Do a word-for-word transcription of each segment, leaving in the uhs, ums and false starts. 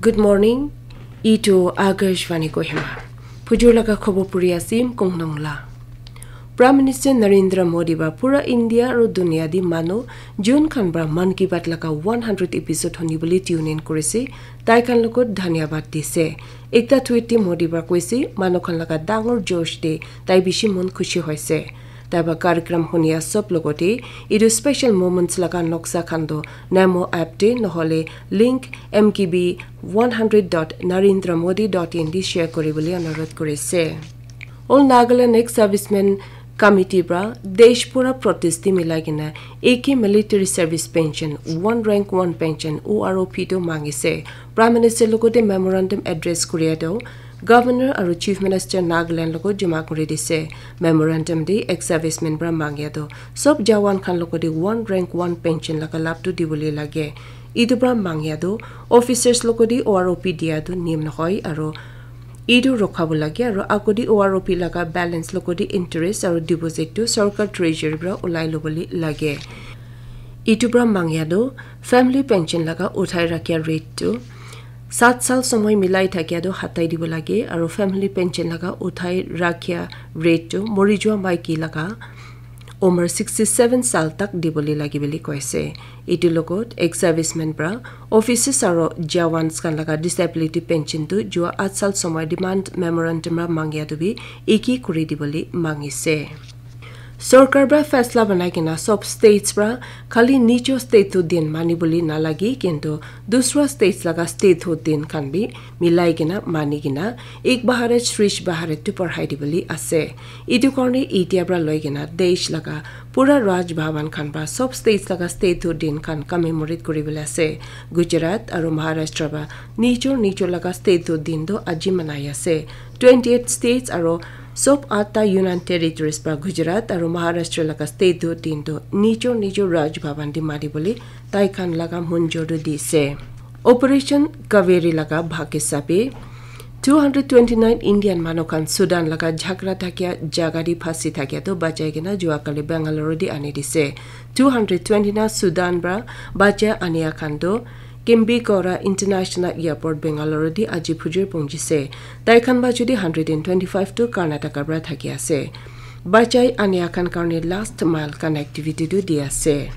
Good morning. Itu Akashvani Kohima. Phujur laga khobor puri asim Kongnong la. Prime Minister Narendra Modi ba pura India aru dunia di manu June khan pra Mann Ki Baat laga one hundred episode honi bole tune in kurise, tai khan logot dhanyabad dise. Ekta tweet te Modi ba koise, manu khan laga dangor josh te tai bishi mon khushi hoise. Tai ba karikram hunia sob logote etu special moments laga noksa khan do Namo app te nohole link M K B one hundred dot narendra modi dot in di share kori bole anurodh korise. All Nagaland ex-servicemen committee pra desh pura protest di milai kena A K military service pension, one rank one pension, O R O P tu mangise. Prime Minister logote memorandum address koria do Governor aru Chief Minister Nagaland logot joma kuri dise. Memorandum di ex-servicemen pra mangya do sob jawan khan logote one rank one pension laga lab tu dibole lage. Itu pra mangya do officers logote O R O P dia do niyam nohoi aru itu rokha bo lage aru agodi O R O P laga balance logote interest aru deposit tu sarkar treasury pra ulai lobole lage. Itu pra mangya do family pension laga uthai rakhya rate tu sat sal somoi milai thakia tu hatai dibo lage aru family pension laga uthai rakhya rate tu mori jua maiki laga umar sixty seven sal tak dibole lage bole koise. Itu logot ex-servicemen pra officers aru jawans khan laga disability pension tu jua at sal somoi demand memorandum pra mangya tu bi iki kuri dibole mangise. Sorkar pra faisla banai kena sob states pra khali nijo state tu din mani bole nalagi kintu dusra states laga state tu din khan bi milai kena mani kena ek bharat shresh bharat tu parhai dibole ase. Itu karne itia pra loi kena desh laga pura Raj Bhavan khan pra sob states laga state tu din khan commemorate kuri bole ase. Gujarat aru Maharashtra pra nijo nijo laga state tu din tu aji manai ase. Twenty eight states aru sob atta Union Territories pra Gujarat aru Maharashtra laga state tu din tu nijo nijo Raj Bhavan di mani bole tai khan laga munjor tu dise. Operation Kaveri laga bhag hisabe two hundred twenty nine Indian manu khan Sudan laga jhagra thakia jaga di phasi thakia tu bachai kena jua kali Bangalore di ani dise. Two hundred twenty nine Sudan pra bachai ania khan tu Kimbigora International Airport Bangalore di aji phujur pongjise. Tai khan ba judi hundred and twenty five tu Karnataka pra thaki ase. Bachai ania khan karne last mile connectivity tu di ase.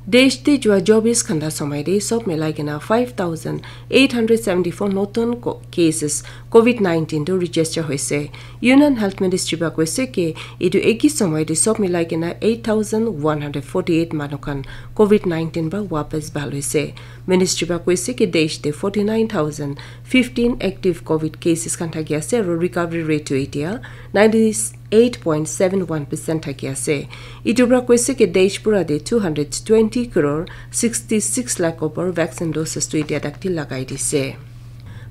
Desh te jua chobis ghanta somoi te sob milai kena five thousand eight hundred seventy four notun ko- cases covid nineteen tu register hoise. Union Health Ministry ba koise ke itu eki somoi te sob milai kena eight thousand one hundred forty eight manu khan covid nineteen ba wapas bhal hoise. Ministry ba koise ke desh te forty nine thousand fifteen active covid cases khan thaki ase aru recovery rate tu itia ninety eight point seven one percent thaki ase. Itu pra koise ke desh pura te two hundred twenty crore sixty six lakh opor vaccine doses tu itia tak te lagai dise.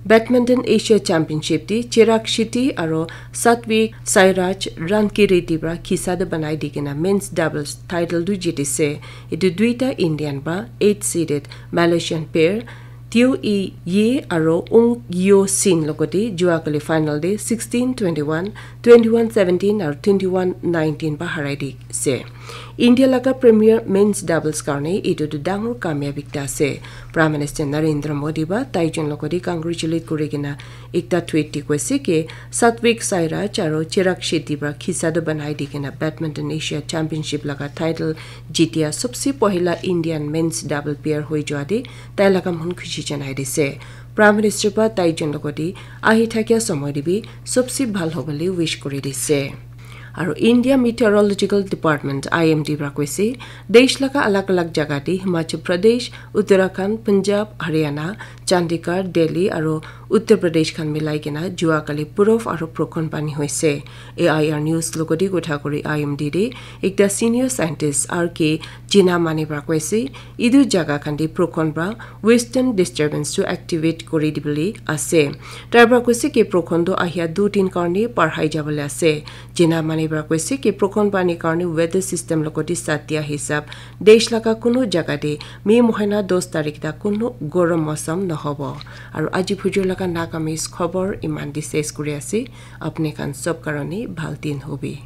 Badminton Asia Championship te Chirag Shetty aru Satvik Sairaj Rankireddy pra khisa tu banai di kena men's doubles title tu jitise. Itu duita Indian pra eight seeded Malaysian pair Teo Ee Yi aru Ung Yeo Sin logote jua kali final te sixteen twenty one, twenty one seventeen aru twenty one nineteen pra harai dise. India laga premier men's doubles karne itu tu dangor kamyab ekta ase. Prime Minister Narendra Modi ba tai jun logote congratulate kuri kena ekta tweet te koise ke Satvik Sairaj aru Chirag Shetty pra khisa tu banai di kena Badminton Asia Championship laga title jitia sobse pohila Indian men's double pair hoi jua te tai laga mon khushi janai dise. Prime Minister pa tai jun logote ahi thakia somoi te bi sobse bhal hobole wish kuri dise. Aru India Meteorological Department, I M D pra koise, desh laga alag alag jaga te Himachal Pradesh, Uttarakhand, Punjab, Haryana, Chandigarh, Delhi aru Uttar Pradesh khan milai kena jua kali purof aru prokhon pani hoise. A I R News logote kotha kuri I M D te ekta senior scientist R K Jinamani pra koise, itu jaga khan te prokhon pra western disturbance tu activate kuri dibole ase. Tai pra koise ke prokhon tu ahia du din karne parhai jabole ase. Jinamani pra koise ke prokhon pani karne weather system logote sat dia hisab desh laga kunu jaga te May mohina dos tarik tak kunu gorom mosam nohobo. Aru aji phujur laga Nagamese khobor iman te ses kuri ase. Apni khan sob karone bhal din hobi.